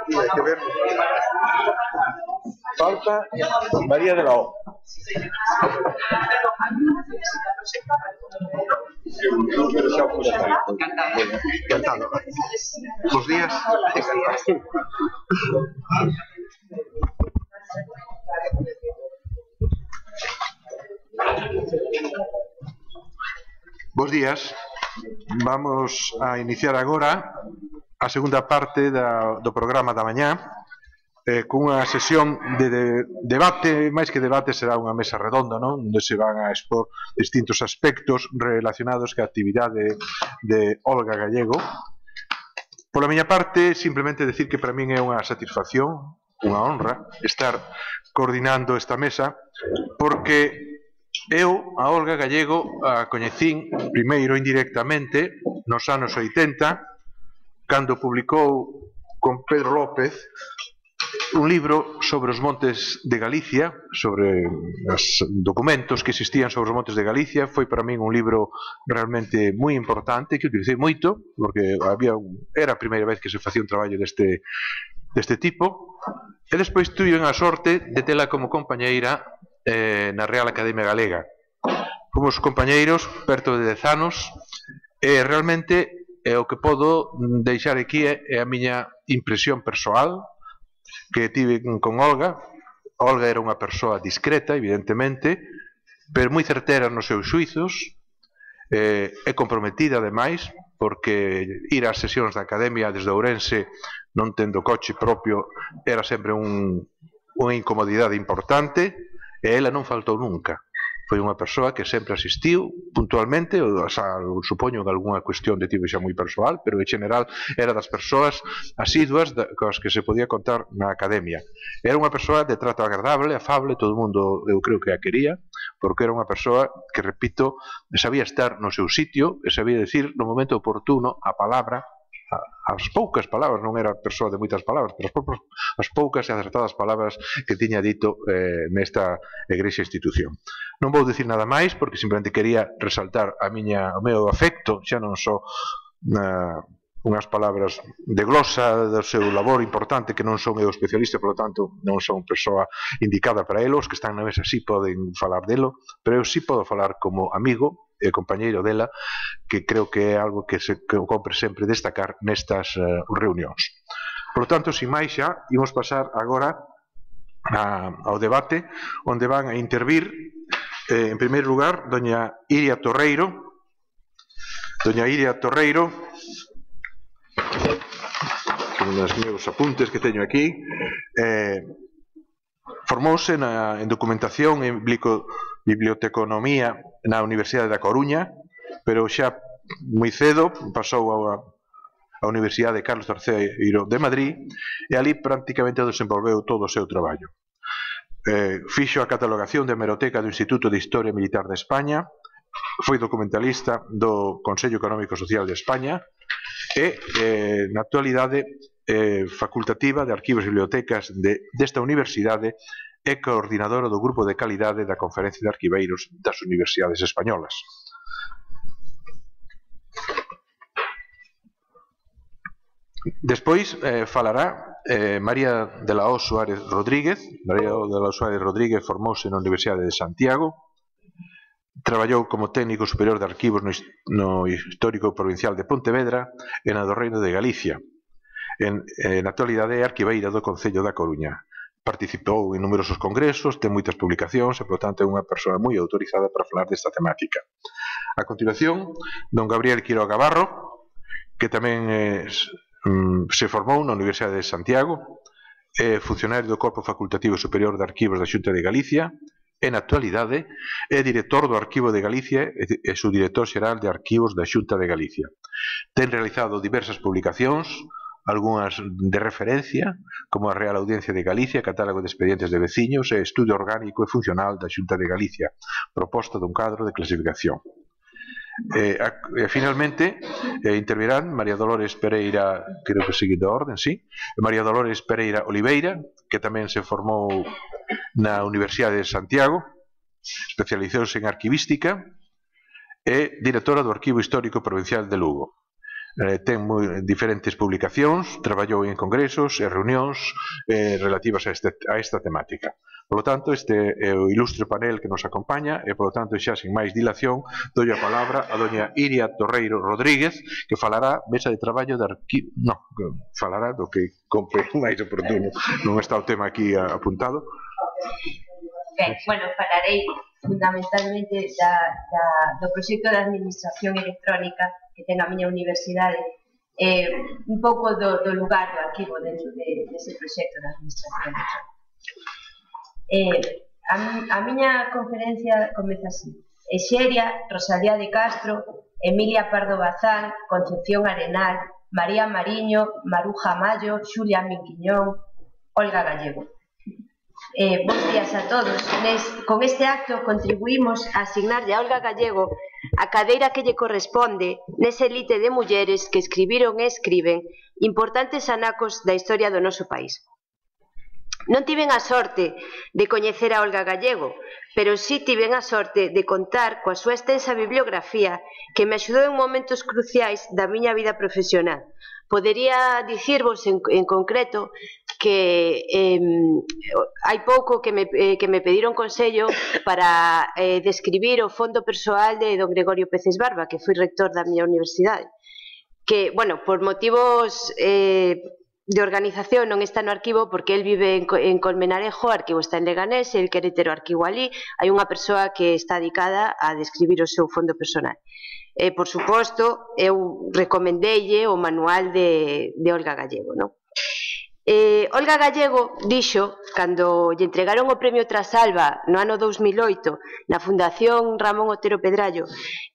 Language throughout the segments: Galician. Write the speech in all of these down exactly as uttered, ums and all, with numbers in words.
Aquí hay que ver. Falta María de la O. Encantado. Buenos días. Bos días. Vamos a iniciar agora a segunda parte da, do programa da mañá eh, cunha sesión de, de debate, máis que debate será unha mesa redonda, non? Onde se van a expor distintos aspectos relacionados ca actividade de Olga Gallego. Pola miña parte, simplemente decir que para min é unha satisfacción, unha honra, estar coordinando esta mesa, porque eu, a Olga Gallego, a coñecín primeiro indirectamente nos anos oitenta, cando publicou con Pedro López un libro sobre os montes de Galicia, sobre os documentos que existían sobre os montes de Galicia. Foi para min un libro realmente moi importante, que utilicei moito, porque había un, era a primeira vez que se facía un traballo deste, deste tipo, e despois tuve a sorte de tela como compañeira eh, na Real Academia Galega. Fomos compañeiros perto de dez anos, e realmente e o que podo deixar aquí é, é a miña impresión persoal que tive con Olga. Olga era unha persoa discreta, evidentemente, pero moi certera nos seus xuizos, eh, e comprometida, ademais, porque ir ás sesións da Academia desde Ourense, non tendo coche propio, era sempre un, unha incomodidade importante, e ela non faltou nunca. Foi unha persoa que sempre asistiu puntualmente, ou xa, supoño que algunha cuestión de tipo xa moi persoal, pero en general era das persoas asiduas cos que se podía contar na Academia. Era unha persoa de trato agradable, afable, todo o mundo eu creo que a quería, porque era unha persoa que, repito, sabía estar no seu sitio e sabía decir no momento oportuno a palabra, as poucas palabras, non era persoa de moitas palabras, pero as poucas e acertadas palabras que tiña dito eh, nesta egrexa institución. Non vou dicir nada máis, porque simplemente quería resaltar a miña, o meu afecto, xa non só na, unhas palabras de glosa do seu labor importante, que non son eu especialista, por lo tanto non son persoa indicada para elos, que están na mesa sí poden falar delo, pero eu sí podo falar como amigo e compañeiro dela, que creo que é algo que se que compre sempre destacar nestas uh, reunións. Por lo tanto, sin máis xa, imos pasar agora a, ao debate, onde van a intervir, eh, en primeiro lugar, doña Iria Torreiro. Doña Iria Torreiro, con os meus apuntes que teño aquí, eh, formouse na, en documentación en biblioteconomía na Universidade da Coruña, pero xa moi cedo pasou a, a Universidade Carlos terceiro de Madrid, e ali prácticamente desenvolveu todo o seu traballo. Eh, fixo a catalogación de hemeroteca do Instituto de Historia Militar de España, foi documentalista do Consello Económico e Social de España, e eh, na actualidade eh, facultativa de arquivos e bibliotecas de, desta universidade, e coordinadora do grupo de calidade da Conferencia de Arquiveiros das Universidades Españolas. Despois eh, falará eh, María de la O Suárez Rodríguez. María de la O Suárez Rodríguez formouse na Universidade de Santiago, traballou como técnico superior de arquivos no, no Histórico Provincial de Pontevedra e na do Reino de Galicia. En, en actualidade é arquiveira do Concello da Coruña. Participou en numerosos congresos, ten moitas publicacións e, por tanto, é unha persoa moi autorizada para falar desta temática. A continuación, don Gabriel Quiroga Barro, que tamén é, mm, se formou na Universidade de Santiago, é funcionario do Corpo Facultativo Superior de Arquivos da Xunta de Galicia, e na actualidade é director do Arquivo de Galicia e subdirector xeral de Arquivos da Xunta de Galicia. Ten realizado diversas publicacións algunhas de referencia, como a Real Audiencia de Galicia, Catálogo de Expedientes de Veciños e Estudio Orgánico e Funcional da Xunta de Galicia, proposta dun cadro de clasificación. Eh, eh, finalmente, eh, intervirán María Dolores Pereira, creo que seguindo a orden, sí, María Dolores Pereira Oliveira, que tamén se formou na Universidade de Santiago, especializouse en arquivística, e directora do Arquivo Histórico Provincial de Lugo. Eh, ten moi diferentes publicacións, traballou en congresos e reunións eh, relativas a, este, a esta temática. Por lo tanto, este é o ilustre panel que nos acompaña e, por lo tanto, xa sin máis dilación, dou a palabra a doña Iria Torreiro Rodríguez, que falará mesa de traballo de arquivo... No, falará do que compre máis oportuno. Non está o tema aquí apuntado. Ben, bueno, falarei fundamentalmente da, da, do proxecto de administración electrónica que ten a miña universidade, eh, un pouco do, do lugar do arquivo dentro de, dese proxecto de administración electrónica. Eh, a, a miña conferencia comeza así: Exeria, Rosalía de Castro, Emilia Pardo Bazán, Concepción Arenal, María Mariño, Maruja Mayo, Xulia Minquiñón, Olga Gallego. Eh, bons días a todos. Nes, con este acto contribuímos a asignarlle a Olga Gallego a cadeira que lle corresponde nese elite de mulleres que escribiron e escriben importantes anacos da historia do noso país. Non tiven a sorte de coñecer a Olga Gallego, pero sí tiven a sorte de contar coa súa extensa bibliografía que me axudou en momentos cruciais da miña vida profesional. Podería dicirvos en, en concreto que eh, hai pouco que me, eh, que me pediron consello para eh, describir o fondo persoal de don Gregorio Peces Barba, que foi rector da miña universidade, que, bueno, por motivos eh, de organización non está no arquivo porque el vive en, en Colmenarejo, o arquivo está en Leganés, el quere ter o arquivo ali, hai unha persoa que está dedicada a describir o seu fondo personal. Eh, por suposto, eu recomendelle o manual de, de Olga Gallego, non? Eh, Olga Gallego dixo, cando lle entregaron o premio Trasalba no ano dous mil oito na Fundación Ramón Otero Pedrallo,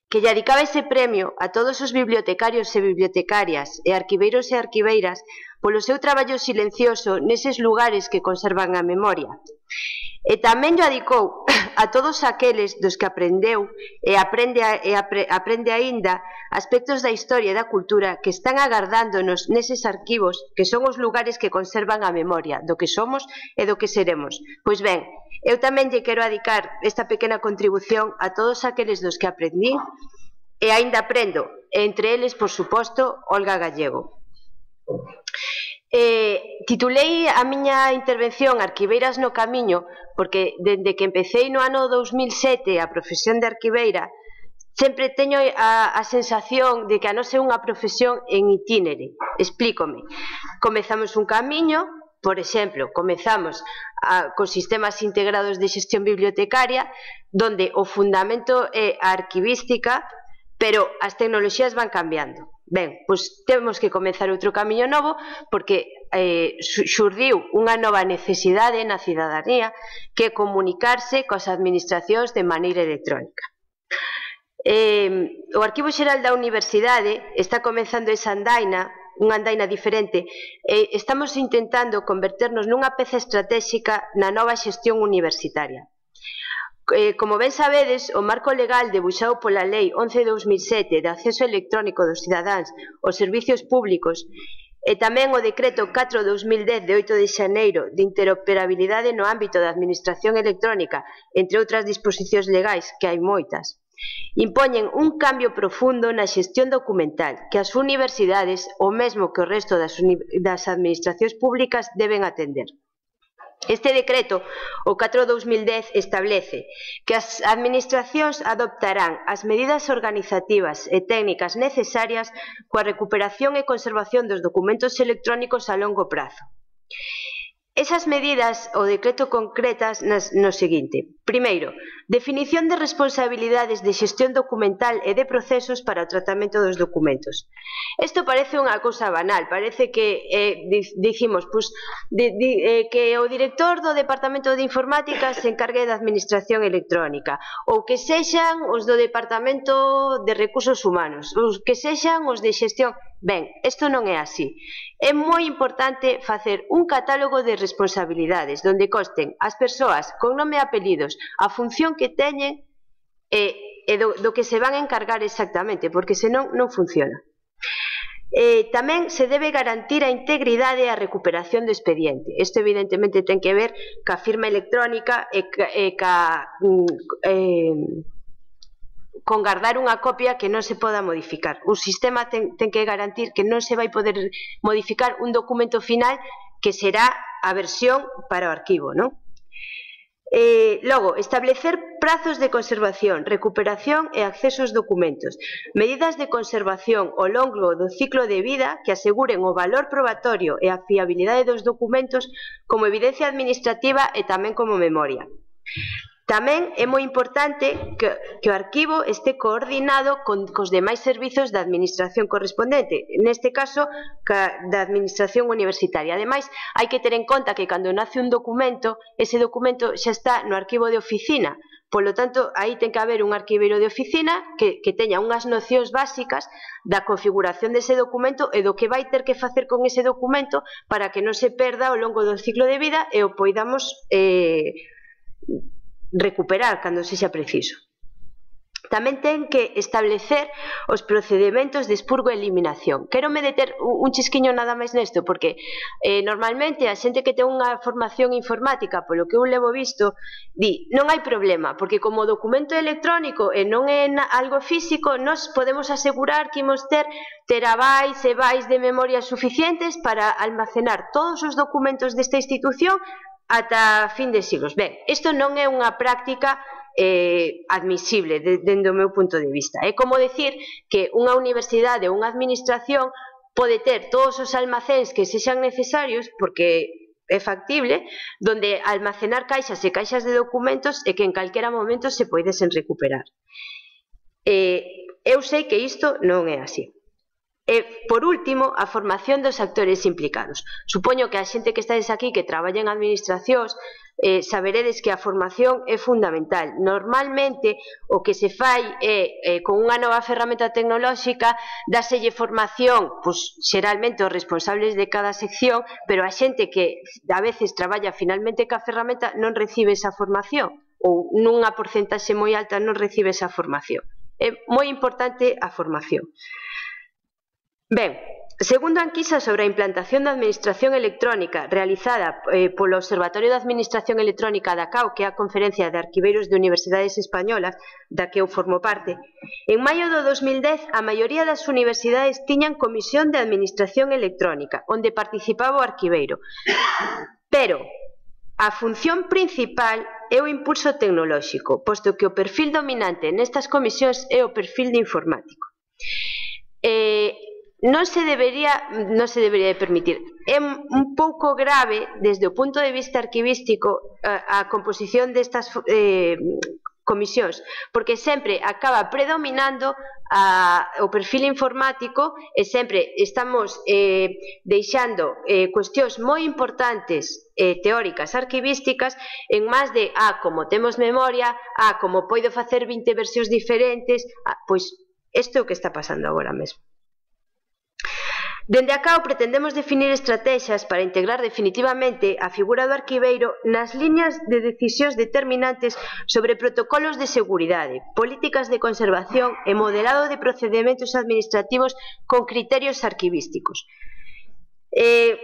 que lle dedicaba ese premio a todos os bibliotecarios e bibliotecarias e arquiveiros e arquiveiras polo seu traballo silencioso neses lugares que conservan a memoria. E tamén lle dedicou a todos aqueles dos que aprendeu e aprende, a, e apre, aprende aínda aspectos da historia e da cultura que están agardándonos neses arquivos que son os lugares que conservan a memoria do que somos e do que seremos. Pois ben, eu tamén lle quero dedicar esta pequena contribución a todos aqueles dos que aprendí e aínda aprendo, entre eles, por suposto, Olga Gallego. Eh, titulei a miña intervención Arquiveiras no Camiño porque dende que empecéi no ano dous mil sete a profesión de arquiveira sempre teño a, a sensación de que a nosa é unha profesión en itínere. Explícome. Comezamos un camiño, por exemplo, comezamos a, cos sistemas integrados de xestión bibliotecaria, donde o fundamento é a arquivística, pero as tecnoloxías van cambiando. Ben, pois temos que comezar outro camiño novo porque eh, xurdiu unha nova necesidade na cidadanía que é comunicarse coas administracións de maneira electrónica. Eh, o Arquivo Xeral da Universidade está comenzando esa andaina, unha andaina diferente, e estamos intentando converternos nunha peza estratégica na nova xestión universitaria. Eh, como ben sabedes, o marco legal debuxado pola Lei once barra dos mil sete de acceso electrónico dos cidadáns aos servicios públicos e tamén o decreto catro barra dos mil dez de oito de xaneiro de interoperabilidade no ámbito da administración electrónica, entre outras disposicións legais, que hai moitas, impoñen un cambio profundo na xestión documental que as universidades, o mesmo que o resto das, das administracións públicas, deben atender. Este decreto, o catro barra dos mil dez, establece que as administracións adoptarán as medidas organizativas e técnicas necesarias coa recuperación e conservación dos documentos electrónicos a longo prazo. Esas medidas o decreto concretas nas, no seguinte. Primeiro, definición de responsabilidades de xestión documental e de procesos para o tratamento dos documentos. Isto parece unha cousa banal, parece que eh, dicimos pues, de, de, eh, que o director do Departamento de Informática se encargue da administración electrónica ou que sexan os do Departamento de Recursos Humanos ou que sexan os de xestión. Ben, isto non é así. É moi importante facer un catálogo de responsabilidades onde consten as persoas con nome e apelidos, a función que teñen e, e do, do que se van a encargar exactamente, porque senón non funciona. Eh, tamén se debe garantir a integridade e a recuperación do expediente. Isto evidentemente ten que ver ca firma electrónica e ca, e ca eh, con guardar unha copia que non se poda modificar. O sistema ten, ten que garantir que non se vai poder modificar un documento final que será a versión para o arquivo, non? Eh, logo, establecer prazos de conservación, recuperación e acceso aos documentos, medidas de conservación ao longo do ciclo de vida que aseguren o valor probatorio e a fiabilidade dos documentos como evidencia administrativa e tamén como memoria. Tamén é moi importante que, que o arquivo este coordinado con cos demais servizos da administración correspondente, neste caso ca, da administración universitaria. Ademais, hai que ter en conta que cando nace un documento, ese documento xa está no arquivo de oficina, polo tanto, aí ten que haber un arquiveiro de oficina que, que teña unhas nocións básicas da configuración dese documento e do que vai ter que facer con ese documento para que non se perda ao longo do ciclo de vida e o poidamos eh, recuperar cando sexa preciso. Tamén ten que establecer os procedementos de expurgo e eliminación. Quero me deter un chisquiño nada máis nesto, porque eh, normalmente a xente que ten unha formación informática, polo que eu levo visto, di, non hai problema, porque como o documento electrónico e non é algo físico, nós podemos asegurar que imos ter terabytes e bytes de memoria suficientes para almacenar todos os documentos desta institución ata fin de siglos. Ben, isto non é unha práctica eh, admisible dende o meu punto de vista. É como decir que unha universidade ou unha administración pode ter todos os almacéns que sexan necesarios, porque é factible, donde almacenar caixas e caixas de documentos e que en calquera momento se poidesen recuperar. Eh, eu sei que isto non é así. E, por último, a formación dos actores implicados. Supoño que a xente que estades aquí que traballa en administracións eh, saberedes que a formación é fundamental. Normalmente, o que se fai é, eh, con unha nova ferramenta tecnolóxica, dáselle formación, pois, xeralmente os responsables de cada sección, pero a xente que a veces traballa finalmente ca ferramenta non recibe esa formación, ou nunha porcentaxe moi alta non recibe esa formación. É moi importante a formación. Ben, segundo a enquisa sobre a implantación da administración electrónica realizada eh, polo Observatorio da Administración Electrónica da C A U, que é a Conferencia de Arquiveiros de Universidades Españolas, da que eu formo parte, en maio do dos mil dez a maioría das universidades tiñan comisión de administración electrónica, onde participaba o arquiveiro. Pero a función principal é o impulso tecnolóxico, posto que o perfil dominante nestas comisións é o perfil de informático. Eh, non se debería, non se debería permitir. É un pouco grave, desde o punto de vista arquivístico, a, a composición destas eh, comisións, porque sempre acaba predominando a, o perfil informático e sempre estamos eh, deixando eh, cuestións moi importantes eh, teóricas arquivísticas en máis de, ah, como temos memoria, ah, como poido facer vinte versións diferentes, ah, pois isto é o que está pasando agora mesmo. Dende a C A U pretendemos definir estrategias para integrar definitivamente a figura do arquiveiro nas liñas de decisións determinantes sobre protocolos de seguridade, políticas de conservación e modelado de procedementos administrativos con criterios arquivísticos. Eh,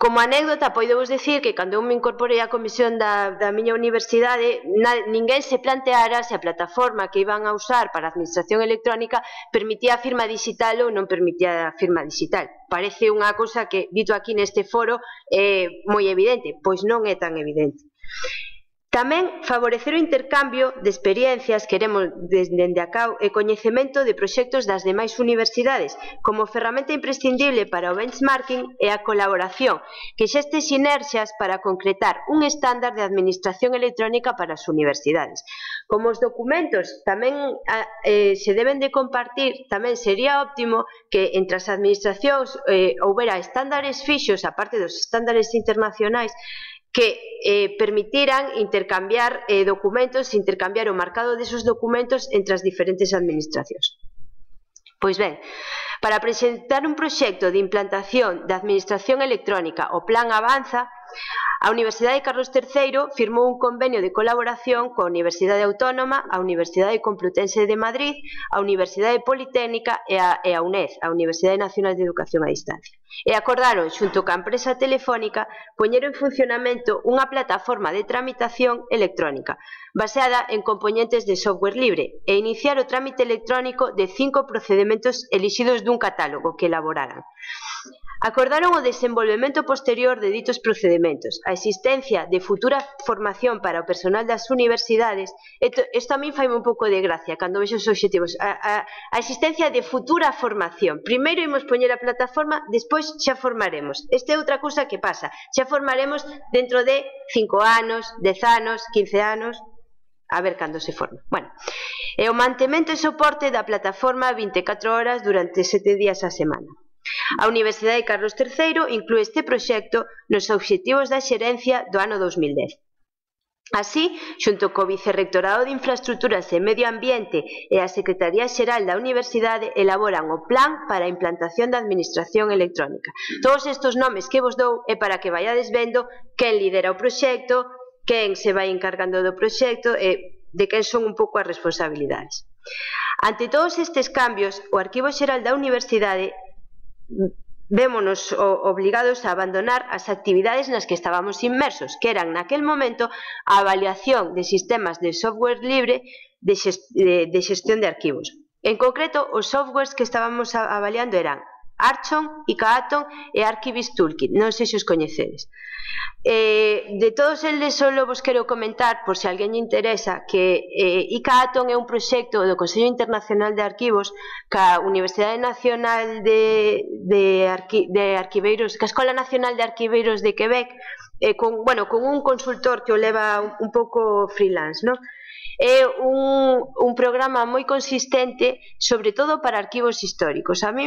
como anécdota, poidevos decir que cando eu me incorporei á comisión da, da miña universidade, na, ninguén se planteara se a plataforma que iban a usar para a administración electrónica permitía a firma digital ou non permitía a firma digital. Parece unha cousa que, dito aquí neste foro, é moi evidente, pois non é tan evidente. Tamén favorecer o intercambio de experiencias, queremos dende a C A U, e coñecemento de proxectos das demais universidades, como ferramenta imprescindible para o benchmarking e a colaboración, que xeste sinerxias para concretar un estándar de administración electrónica para as universidades. Como os documentos tamén eh, se deben de compartir, tamén sería óptimo que entre as administracións eh, houbera estándares fixos, aparte dos estándares internacionais, que eh, permitiran intercambiar eh, documentos, intercambiar o marcado desos documentos entre as diferentes administracións. Pois ben, para presentar un proxecto de implantación da Administración Electrónica, o Plan Avanza, a Universidade Carlos terceiro firmou un convenio de colaboración coa Universidade Autónoma, a Universidade Complutense de Madrid, a Universidade Politécnica e a, e a UNED, a Universidade Nacional de Educación a Distancia. E acordaron, xunto ca empresa telefónica, poñer en funcionamento unha plataforma de tramitación electrónica baseada en componentes de software libre e iniciar o trámite electrónico de cinco procedementos elixidos dun catálogo que elaboraran. Acordaron o desenvolvemento posterior de ditos procedementos, a existencia de futura formación para o personal das universidades. Isto a mí faime un pouco de gracia cando vexo os obxectivos. A, a, a existencia de futura formación. Primeiro imos poñer a plataforma, despois xa formaremos. Esta é outra cousa que pasa. Xa formaremos dentro de cinco anos, dez anos, quince anos, a ver cando se forma. Bueno, e o mantemento e soporte da plataforma vinte e catro horas durante sete días a semana. A Universidade Carlos terceiro inclúe este proxecto nos obxectivos da xerencia do ano dos mil dez. Así, xunto co Vicerrectorado de Infraestructuras e Medio Ambiente e a Secretaría Xeral da Universidade elaboran o Plan para a implantación da Administración Electrónica. Todos estes nomes que vos dou é para que vaiades vendo quen lidera o proxecto, quen se vai encargando do proxecto e de quen son un pouco as responsabilidades. Ante todos estes cambios, o Arquivo Xeral da Universidade vémonos obligados a abandonar as actividades nas que estábamos inmersos, que eran naquel momento a avaliación de sistemas de software libre de xestión de arquivos. En concreto, os softwares que estábamos avaliando eran Archon, Icaaton e Archivist Toolkit, non sei se os coñecedes. Eh, de todos eles só vos quero comentar, por se alguén lle interesa, que eh, Icaaton é un proxecto do Consello Internacional de Arquivos ca Universidade Nacional de, de, Arqui, de Arquiveiros, ca Escola Nacional de Arquiveiros de Quebec, eh, con, bueno, con un consultor que o leva un, un pouco freelance, non? É un, un programa moi consistente, sobre todo para arquivos históricos. A mí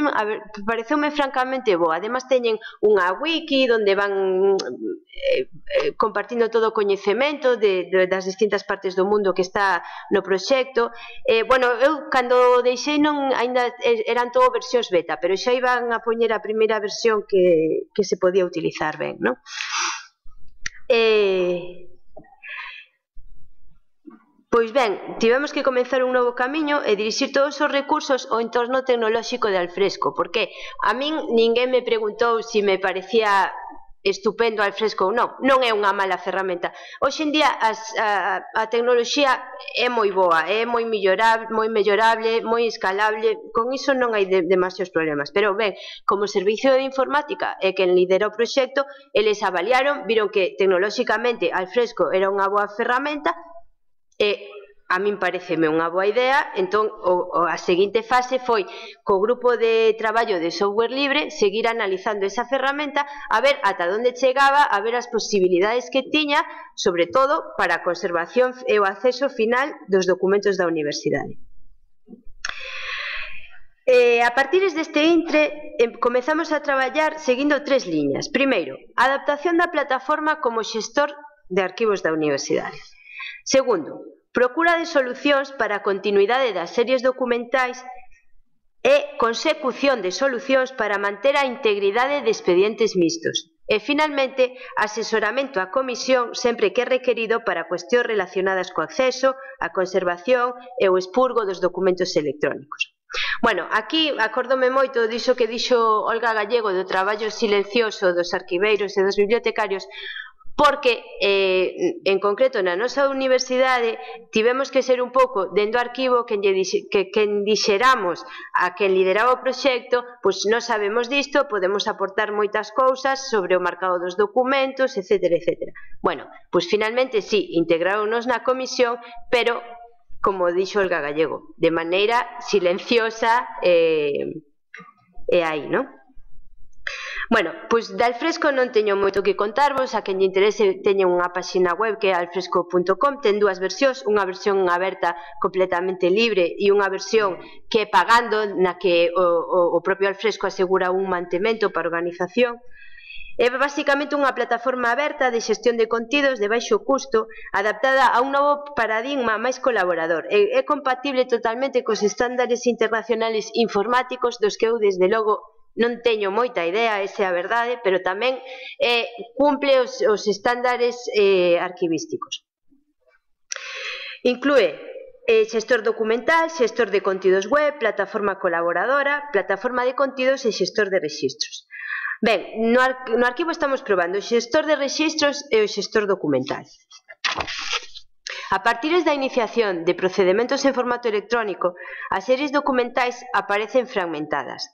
pareceume francamente boa. Además teñen unha wiki onde van eh, eh, compartindo todo o coñecemento de, de, das distintas partes do mundo que está no proxecto. Eh, bueno, eu cando deixei non ainda eran todo versións beta, pero xa iban a poñer a primeira versión que, que se podía utilizar ben, non? Eh... Pois ben, tivemos que comenzar un novo camiño e dirixir todos os recursos ao entorno tecnolóxico de Alfresco, porque a min ninguén me preguntou se me parecía estupendo Alfresco ou non. Non é unha mala ferramenta. Hoxe en día as, a, a tecnoloxía é moi boa, é moi mellorable, moi mellorable, moi escalable, con iso non hai de, demasiados problemas. Pero ben, como servicio de informática é quen lidera o proxecto, eles avaliaron, viron que tecnolóxicamente Alfresco era unha boa ferramenta. E a min pareceme unha boa idea, entón o, o, a seguinte fase foi co grupo de traballo de software libre seguir analizando esa ferramenta a ver ata onde chegaba, a ver as posibilidades que tiña, sobre todo para a conservación e o acceso final dos documentos da universidade. Eh, a partir deste intre eh, comezamos a traballar seguindo tres liñas. Primeiro, a adaptación da plataforma como xestor de arquivos da universidade. Segundo, procura de solucións para a continuidade das series documentais e consecución de solucións para manter a integridade de expedientes mixtos. E, finalmente, asesoramento á comisión sempre que é requerido para cuestións relacionadas co acceso, a conservación e o expurgo dos documentos electrónicos. Bueno, aquí acórdome moito diso que dixo Olga Gallego do traballo silencioso dos arquiveiros e dos bibliotecarios, porque, eh, en concreto, na nosa universidade tivemos que ser un pouco dentro do arquivo que, que quen dixeramos a quen lideraba o proxecto, pois non sabemos disto, podemos aportar moitas cousas sobre o marcado dos documentos, etcétera, etcétera. Bueno, pois finalmente sí, integraronos na comisión, pero, como dixo Olga Gallego, de maneira silenciosa e eh, aí, non? Bueno, pois de Alfresco non teño moito que contarvos, a quen lle interese teñen unha páxina web que é alfresco punto com, ten dúas versións, unha versión aberta completamente libre e unha versión que é pagando, na que o, o, o propio Alfresco asegura un mantemento para a organización. É basicamente unha plataforma aberta de xestión de contidos de baixo custo, adaptada a un novo paradigma máis colaborador. É, é compatible totalmente cos estándares internacionales informáticos dos que eu, desde logo, non teño moita idea, esa é a verdade, pero tamén eh, cumple os, os estándares eh, arquivísticos. Inclúe eh, xestor documental, xestor de contidos web, plataforma colaboradora, plataforma de contidos e xestor de rexistros. Ben, no, ar no arquivo estamos probando o xestor de rexistros e o xestor documental. A partir da iniciación de procedementos en formato electrónico, as series documentais aparecen fragmentadas.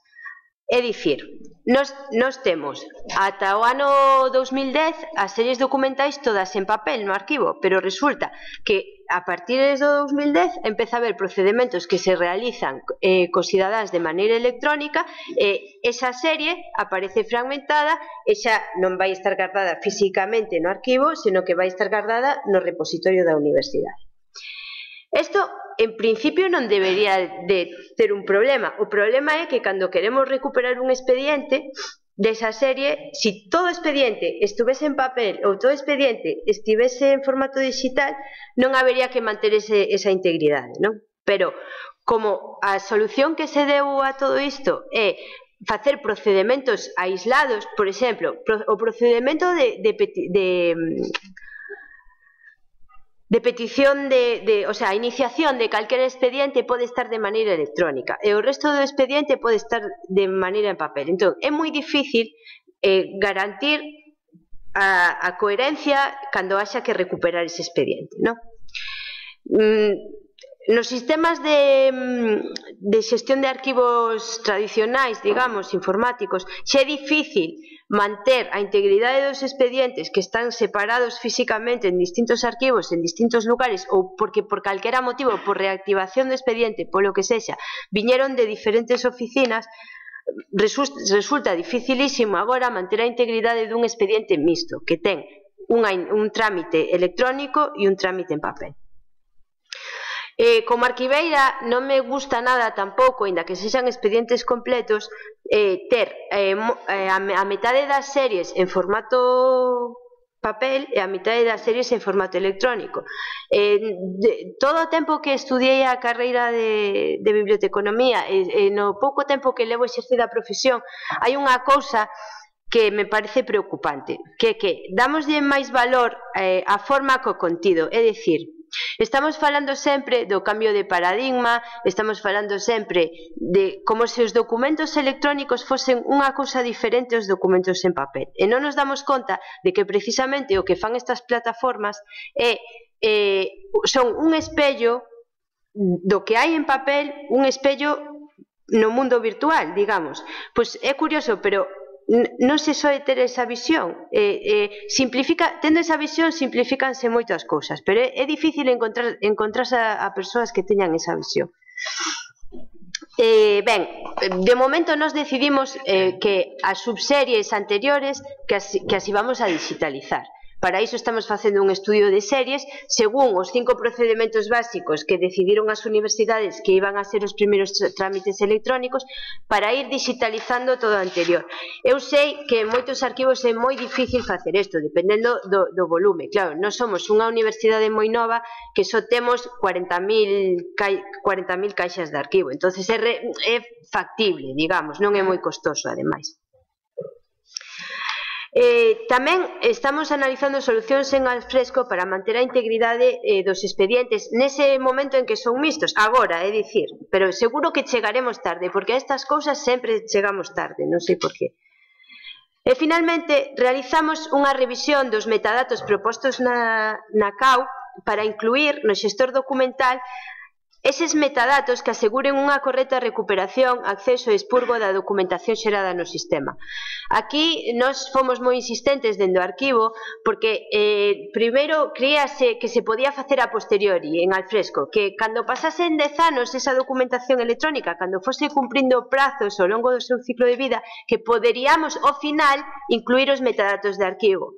É dicir, nos, nos temos ata o ano dos mil dez as series documentais todas en papel no arquivo, pero resulta que a partir do dos mil dez empeza a haber procedementos que se realizan eh, cos cidadáns de maneira electrónica e esa serie aparece fragmentada e xa non vai estar guardada físicamente no arquivo, senón que vai estar guardada no repositorio da universidade. Isto, en principio, non debería de ter un problema. O problema é que cando queremos recuperar un expediente desa serie, si todo expediente estuvese en papel ou todo expediente estivese en formato digital, non habería que manter ese, esa integridade, non? Pero, como a solución que se deu a todo isto é facer procedementos aislados, por exemplo, o procedimento de, de, de de petición de, de, o sea, a iniciación de calquer expediente pode estar de maneira electrónica e o resto do expediente pode estar de maneira en papel. Entón, é moi difícil eh, garantir a, a coherencia cando haxa que recuperar ese expediente, non? Mm, nos sistemas de, de xestión de arquivos tradicionais, digamos, informáticos, xa é difícil manter a integridade dos expedientes que están separados físicamente en distintos arquivos, en distintos lugares, ou porque por calquera motivo, por reactivación do expediente, polo que sexa, viñeron de diferentes oficinas, resulta dificilísimo agora manter a integridade dun expediente mixto, que ten unha, un trámite electrónico e un trámite en papel. Eh, como arquiveira non me gusta nada tampouco, aínda que sexan expedientes completos, eh, ter eh, a, a metade das series en formato papel e a metade das series en formato electrónico. Eh, de, todo o tempo que estudiei a carreira de, de biblioteconomía e, e no pouco tempo que levo exercida a profesión, hai unha cousa que me parece preocupante, que é que damoslle máis valor eh, á forma co contido, é dicir, estamos falando sempre do cambio de paradigma, estamos falando sempre de como se os documentos electrónicos fosen unha cousa diferente aos documentos en papel. E non nos damos conta de que precisamente o que fan estas plataformas é, eh, son un espello do que hai en papel, un espello no mundo virtual, digamos. Pois é curioso, pero non se soe ter esa visión, eh, eh, simplifica, tendo esa visión simplifícanse moitas cousas, pero é, é difícil encontrar, encontrarse a, a persoas que teñan esa visión. Eh, ben, de momento nos decidimos eh, que as subseries anteriores que as, que as íbamos a digitalizar. Para iso estamos facendo un estudio de series según os cinco procedementos básicos que decidiron as universidades que iban a ser os primeiros trámites electrónicos para ir digitalizando todo o anterior. Eu sei que en moitos arquivos é moi difícil facer isto, dependendo do, do volume. Claro, nós somos unha universidade moi nova que só temos cuarenta mil caixas de arquivo, entonces é, re, é factible, digamos, non é moi costoso, ademais. Eh, tamén estamos analizando solucións en alfresco para manter a integridade eh, dos expedientes nese momento en que son mixtos, agora, é dicir, pero seguro que chegaremos tarde, porque a estas cousas sempre chegamos tarde, non sei por qué. E finalmente realizamos unha revisión dos metadatos propostos na, na C A U para incluir no xestor documental eses metadatos que aseguren unha correcta recuperación, acceso e expurgo da documentación xerada no sistema. Aquí nós fomos moi insistentes dentro do arquivo porque eh, primeiro creíase que se podía facer a posteriori en alfresco, que cando pasasen dez anos esa documentación electrónica, cando fose cumprindo prazos ao longo do seu ciclo de vida, que poderíamos ao final incluir os metadatos de arquivo.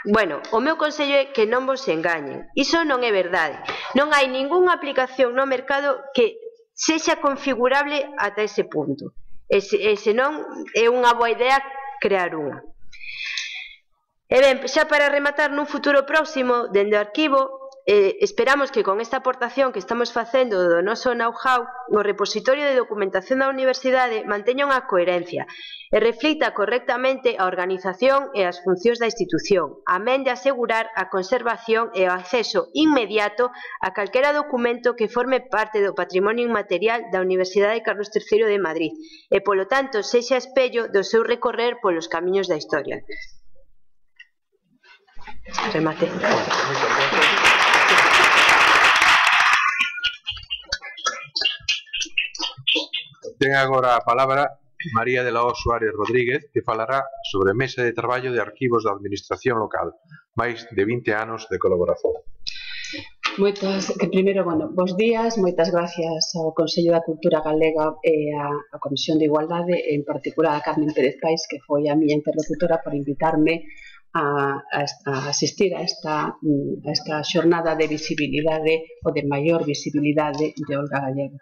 Bueno, o meu consello é que non vos engañen. Iso non é verdade. Non hai ningunha aplicación no mercado que sexa configurable ata ese punto. E, se, e senón é unha boa idea crear unha. E ben, xa para rematar, nun futuro próximo, dende o arquivo, Eh, esperamos que con esta aportación que estamos facendo do noso know-how no repositorio de documentación da universidade manteña unha coherencia e reflita correctamente a organización e as funcións da institución, amén de asegurar a conservación e o acceso inmediato a calquera documento que forme parte do patrimonio inmaterial da Universidade Carlos terceiro de Madrid e, polo tanto, sexa espello do seu recorrer polos camiños da historia. Remate. Ten agora a palabra María de la O Suárez Rodríguez, que falará sobre mesa de traballo de arquivos da administración local, máis de vinte anos de colaboración. Moitas, que primeiro, bueno, bons días, moitas gracias ao Consello da Cultura Galega e á Comisión de Igualdade, en particular a Carmen Pérez Pais, que foi a miña interlocutora, por invitarme a, a, a asistir a esta, a esta xornada de visibilidade ou de maior visibilidade de Olga Gallego.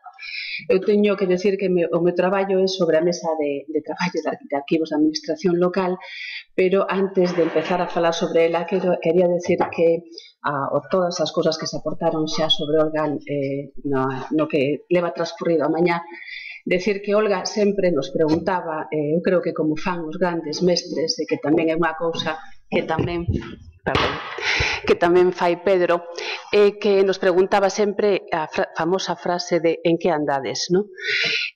Eu teño que decir que me, o meu traballo é sobre a mesa de, de traballo de arquivos da administración local, pero antes de empezar a falar sobre ela, quero, quería decir que a, o todas as cousas que se aportaron xa sobre Olga eh, no, no que leva transcurrido a mañá, decir que Olga sempre nos preguntaba, eh, eu creo que como fan os grandes mestres, e que tamén é unha cousa que tamén, perdón, que tamén fai Pedro, eh, que nos preguntaba sempre a fra famosa frase de en que andades, non?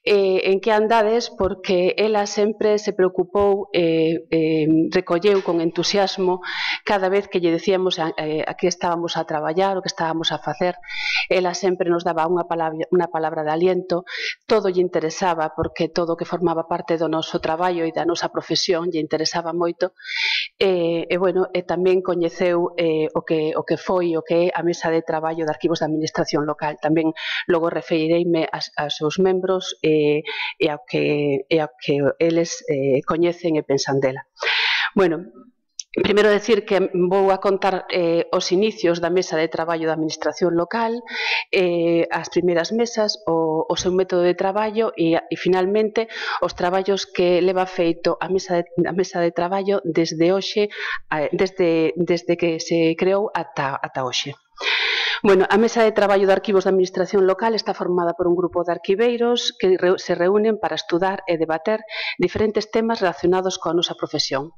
Eh, en que andades porque ela sempre se preocupou, eh, eh, recolleu con entusiasmo cada vez que lle decíamos a, eh, a que estábamos a traballar, o que estábamos a facer. Ela sempre nos daba unha palabra, unha palabra de aliento, todo lle interesaba porque todo o que formaba parte do noso traballo e da nosa profesión lle interesaba moito, e, e bueno, e tamén coñeceu eh, o que o que foi o que é a mesa de traballo de arquivos da administración local. Tamén logo referireime aos, aos seus membros e, e ao que, e ao que eles eh, coñecen e pensan dela. Bueno, primeiro decir que vou a contar eh, os inicios da mesa de traballo da administración local, eh, as primeiras mesas, o, o seu método de traballo e, e finalmente os traballos que leva feito a mesa de, a mesa de traballo desde hoxe, eh, desde, desde que se creou ata, ata hoxe. Bueno, a mesa de traballo de arquivos da administración local está formada por un grupo de arquiveiros que se reúnen para estudar e debater diferentes temas relacionados coa nosa profesión.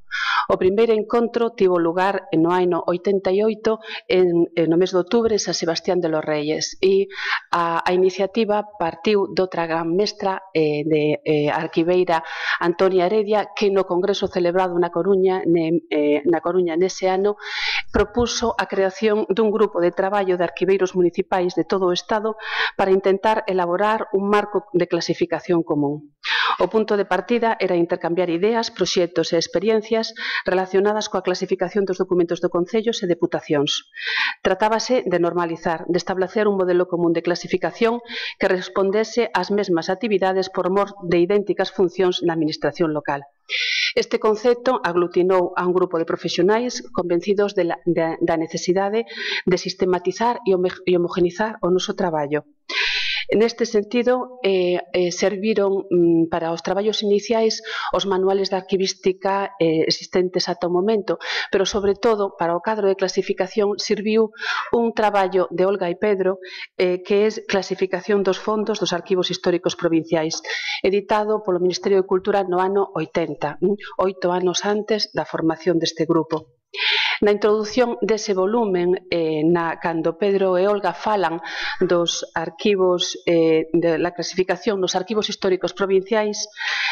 O primeiro encontro tivo lugar no ano oitenta e oito en, en no mes de outubro en San Sebastián de los Reyes e a, a iniciativa partiu doutra gran mestra eh, de eh, arquiveira Antonia Heredia, que no congreso celebrado na Coruña, ne, eh, na Coruña nese ano propuso a creación dun grupo de traballo de arquiveiros municipais de todo o Estado para intentar elaborar un marco de clasificación común. O punto de partida era intercambiar ideas, proxectos e experiencias relacionadas coa clasificación dos documentos de concellos e deputacións. Tratábase de normalizar, de establecer un modelo común de clasificación que respondese ás mesmas actividades por mor de idénticas funcións na administración local. Este concepto aglutinou a un grupo de profesionais convencidos de la, de, da necesidade de sistematizar e homogenizar o noso traballo. Neste sentido, eh, eh, serviron mm, para os traballos iniciais os manuales de arquivística eh, existentes ata o momento, pero sobre todo para o cadro de clasificación serviu un traballo de Olga e Pedro eh, que é clasificación dos fondos dos arquivos históricos provinciais, editado polo Ministerio de Cultura no ano oitenta, oito anos antes da formación deste grupo. Na introdución dese volumen, eh, na, cando Pedro e Olga falan dos arquivos, eh, de la clasificación nos arquivos históricos provinciais,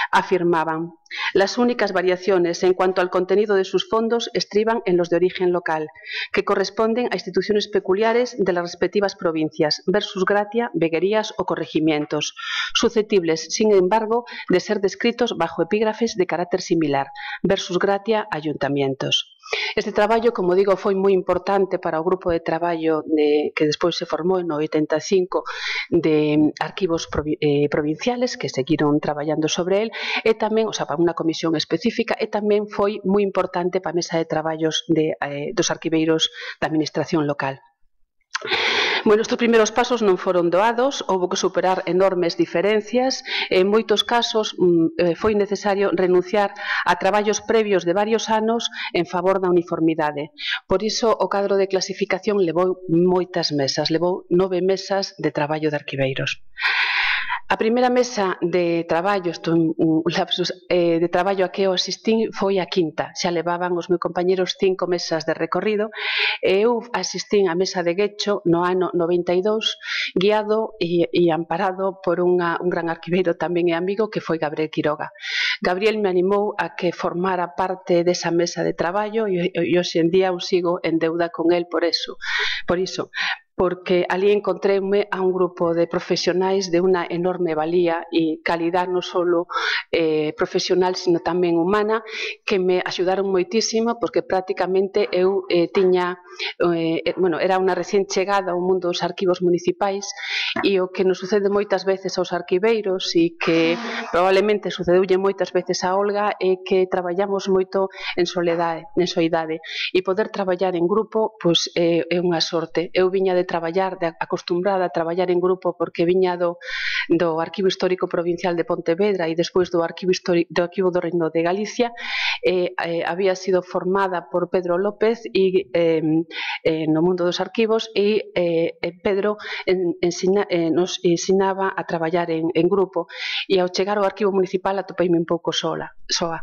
afirmaban: las únicas variaciones en cuanto al contenido de sus fondos estriban en los de origen local, que corresponden a instituciones peculiares de las respectivas provincias, versus gratia, veguerías o corregimientos, susceptibles, sin embargo, de ser descritos bajo epígrafes de carácter similar, versus gratia, ayuntamientos. Este traballo, como digo, foi moi importante para o grupo de traballo de, que despois se formou no oitenta e cinco de arquivos provi eh, provinciales que seguiron traballando sobre el e tamén, o sea, para unha comisión específica, e tamén foi moi importante para a mesa de traballos de, eh, dos arquiveiros da administración local. Bueno, estes primeiros pasos non foron doados, houve que superar enormes diferencias, en moitos casos foi necesario renunciar a traballos previos de varios anos en favor da uniformidade. Por iso, o cadro de clasificación levou moitas mesas, levou nove mesas de traballo de arquiveiros. A primeira mesa de traballo, isto é un lapsus, eh, de traballo a que eu asistín foi a quinta. Xa levaban os meus compañeros cinco mesas de recorrido e eu asistín a mesa de Guecho no ano noventa e dous, guiado e, e amparado por unha, un gran arquiveiro tamén e amigo que foi Gabriel Quiroga. Gabriel me animou a que formara parte desa mesa de traballo e, e hoxe en día eu sigo en deuda con el por eso, por iso. porque ali encontréme a un grupo de profesionais de unha enorme valía e calidad non só eh, profesional, sino tamén humana, que me axudaron moitísimo, porque prácticamente eu eh, tiña, eh, bueno, era unha recién chegada ao mundo dos arquivos municipais, e o que nos sucede moitas veces aos arquiveiros e que probablemente sucedeulle moitas veces a Olga é que traballamos moito en soledade, en soidade, e poder traballar en grupo pois, é, é unha sorte. Eu viña de traballar, de acostumbrada a traballar en grupo porque viña do, do Arquivo Histórico Provincial de Pontevedra e despois do Arquivo, Histórico, do, Arquivo do Reino de Galicia. Eh, eh, había sido formada por Pedro López e, eh, eh, no mundo dos arquivos e eh, Pedro en, ensina, eh, nos ensinaba a traballar en, en grupo, e ao chegar ao Arquivo Municipal atopeime un pouco sola, soa.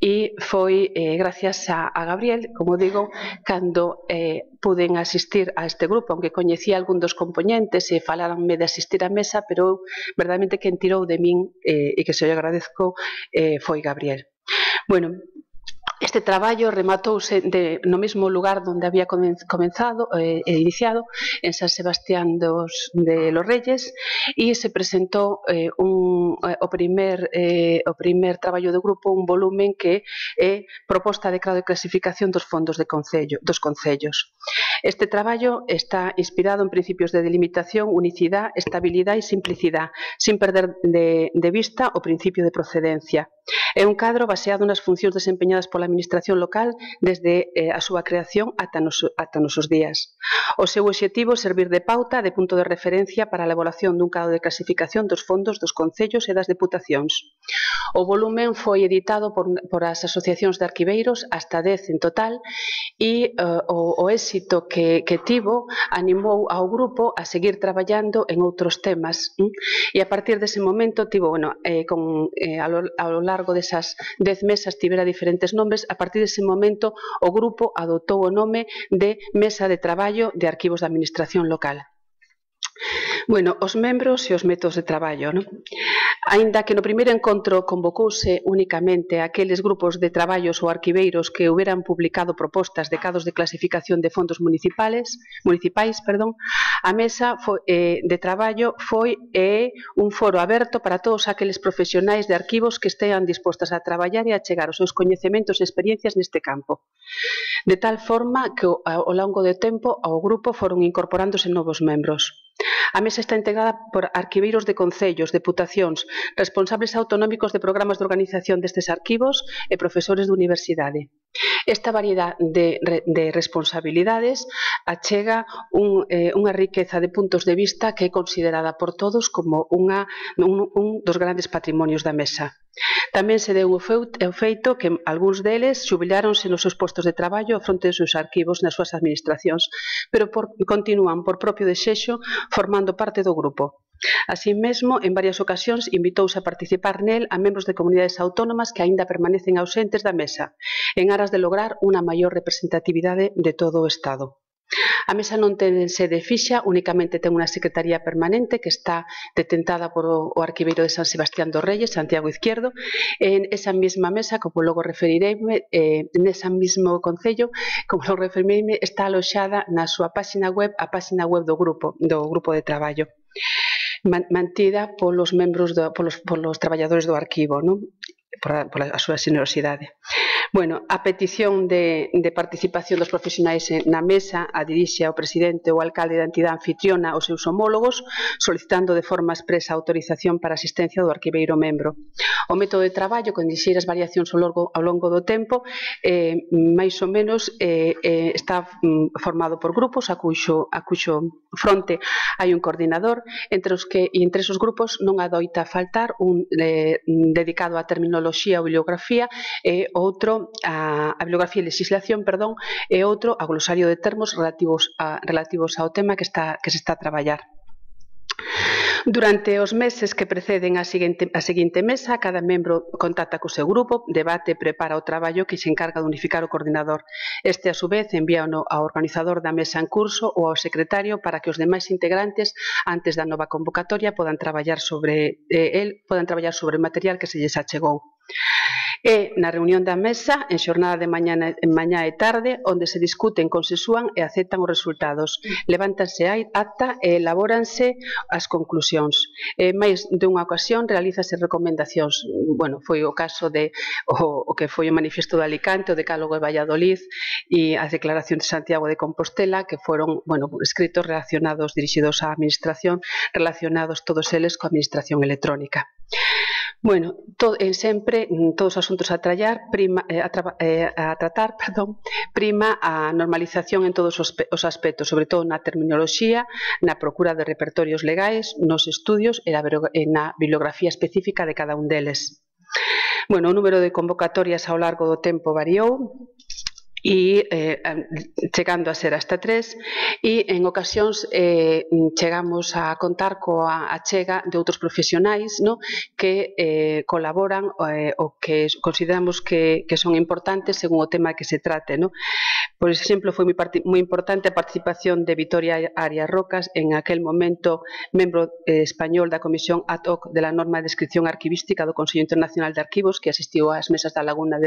E foi eh, gracias a, a Gabriel, como digo, cando eh, puden asistir a este grupo, aunque coñecía algún dos componentes e falaranme de asistir á mesa, pero verdadeiramente quen tirou de min eh, e que se o agradezco eh, foi Gabriel. Bueno, este traballo rematouse de, no mesmo lugar onde había comenzado e eh, iniciado, en San Sebastián dos, de los Reyes, e se presentou eh, un, eh, o, primer, eh, o primer traballo do grupo, un volumen que é proposta de grado de clasificación dos fondos de concello, dos concellos. Este traballo está inspirado en principios de delimitación, unicidade, estabilidade e simplicidade, sin perder de, de vista o principio de procedencia. É un cadro baseado nas funcións desempeñadas pola Administración local desde eh, a súa creación ata nos, ata nosos días. O seu obxectivo é servir de pauta, de punto de referencia para a elaboración dun cadro de clasificación dos fondos dos concellos e das deputacións. O volumen foi editado por, por as asociacións de arquiveiros, hasta dez en total, e uh, o, o éxito que, que tivo animou ao grupo a seguir traballando en outros temas. ¿eh? E a partir dese momento tivo, bueno, eh, con, eh, a, lo, a lo largo desas dez mesas tivera diferentes nombres. A partir dese momento o grupo adotou o nome de Mesa de Traballo de Arquivos da Administración Local. Bueno, os membros e os métodos de traballo, non? Aínda que no primeiro encontro convocouse únicamente aqueles grupos de traballos ou arquiveiros que houberan publicado propostas de cados de clasificación de fondos municipales, municipais, perdón, a mesa foi, eh, de traballo foi eh, un foro aberto para todos aqueles profesionais de arquivos que estean dispostas a traballar e a chegar os seus coñecementos e experiencias neste campo. De tal forma que ao longo do tempo ao grupo foron incorporándose novos membros. A mesa está integrada por arquiveiros de concellos, deputacións, responsables autonómicos de programas de organización destes arquivos e profesores de universidade. Esta variedade de, de responsabilidades achega un, eh, unha riqueza de puntos de vista que é considerada por todos como unha, un, un dos grandes patrimonios da mesa. Tamén se deu o feito que algúns deles xubiláronse nos seus postos de traballo ao fronte dos seus arquivos nas súas administracións, pero por, continúan por propio desexo formando parte do grupo. Así mesmo, en varias ocasións invitouse a participar nel a membros de comunidades autónomas que aínda permanecen ausentes da mesa, en aras de lograr unha maior representatividade de todo o Estado. A mesa non ten sede fixa, únicamente ten unha secretaría permanente que está detentada por o arquiveiro de San Sebastián dos Reyes, Santiago Izquierdo. En esa mesma mesa, como logo referireime, eh, nesa mesmo concello, como logo referireime, está aloxada na súa páxina web, a páxina web do grupo, do grupo de traballo, mantida polos membros, do, polos, polos traballadores do arquivo, non? Por a, por a súa xenerosidade. Bueno, a petición de, de participación dos profesionais na mesa a dirixe ao presidente ou alcalde da entidade anfitriona aos seus homólogos, solicitando de forma expresa autorización para a asistencia do arquiveiro membro. O método de traballo, con lixeiras variacións ao longo, ao longo do tempo, eh, máis ou menos eh, eh, está mm, formado por grupos, a cuxo, a cuxo fronte hai un coordinador, entre os que e entre esos grupos non adoita faltar un eh, dedicado á terminoloxía ou bibliografía e outro a, a bibliografía e legislación, perdón, e outro a glosario de termos relativos, a, relativos ao tema que, está, que se está a traballar. Durante os meses que preceden a seguinte, a seguinte mesa, cada membro contacta co seu grupo, debate e prepara o traballo que se encarga de unificar o coordinador. Este, a su vez, envíano ao organizador da mesa en curso ou ao secretario para que os demais integrantes, antes da nova convocatoria, podan traballar sobre eh, el, podan traballar sobre o material que se lles achegou. E na reunión da mesa, en xornada de mañá, en mañá e tarde, onde se discuten, consensúan e aceptan os resultados. Levántanse a acta e elabóranse as conclusións. E máis dunha ocasión realízase recomendacións. Bueno, foi o caso de o, o que foi o manifesto de Alicante, o decálogo de Valladolid e as declaracións de Santiago de Compostela, que foron, bueno, escritos relacionados, dirixidos á administración, relacionados todos eles coa administración electrónica. Bueno, to, en sempre, todos os asuntos a, trallar, prima, eh, a, tra, eh, a tratar perdón, prima a normalización en todos os, os aspectos, sobre todo na terminoloxía, na procura de repertorios legais, nos estudios e na bibliografía específica de cada un deles. Bueno, o número de convocatorias ao largo do tempo variou, e eh, chegando a ser hasta tres, e en ocasións eh, chegamos a contar coa achega de outros profesionais, no, que eh, colaboran eh, o que consideramos que, que son importantes según o tema que se trate, no. Por exemplo, foi moi, moi importante a participación de Vitoria Arias Rocas, en aquel momento membro eh, español da Comisión ad hoc de la norma de descripción arquivística do Consello Internacional de Arquivos, que asistiu ás mesas da Laguna de